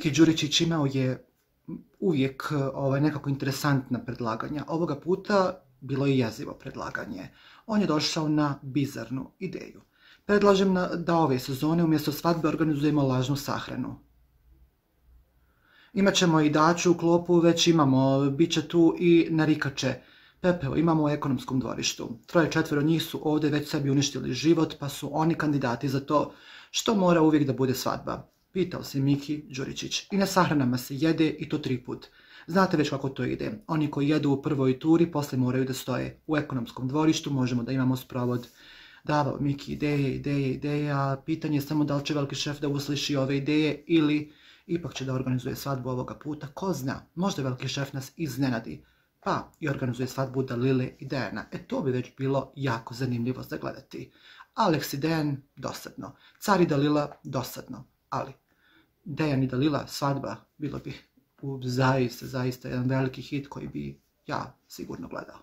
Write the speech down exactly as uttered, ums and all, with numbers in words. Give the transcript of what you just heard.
Miki Đuričić imao je uvijek ovaj, nekako interesantna predlaganja. Ovoga puta bilo je jezivo predlaganje. On je došao na bizarnu ideju. Predlažem na, da ove sezone umjesto svadbe organizujemo lažnu sahranu. Imaćemo i Daču u klopu, već imamo, bit će tu i narikače. Pepeo imamo u ekonomskom dvorištu. Troje četvero njih su ovdje već sebi uništili život, pa su oni kandidati za to što mora uvijek da bude svadba. Pitao se Miki Đuričić. I na sahranama se jede i to tri put. Znate već kako to ide. Oni koji jedu u prvoj turi, posle moraju da stoje. U ekonomskom dvorištu možemo da imamo sprovod. Davao Miki ideje, ideje, ideje, a pitanje je samo da li će veliki šef da usliši ove ideje ili ipak će da organizuje svadbu ovoga puta. Ko zna, možda veliki šef nas iznenadi. Pa i organizuje svadbu Dalile i Dejana. E to bi već bilo jako zanimljivo za gledati. Alex i Dejan, dosadno. Car i Dalila, dosadno. Ali Dejan i Dalila, svadba, bilo bi u zaista, zaista jedan veliki hit koji bi ja sigurno gledao.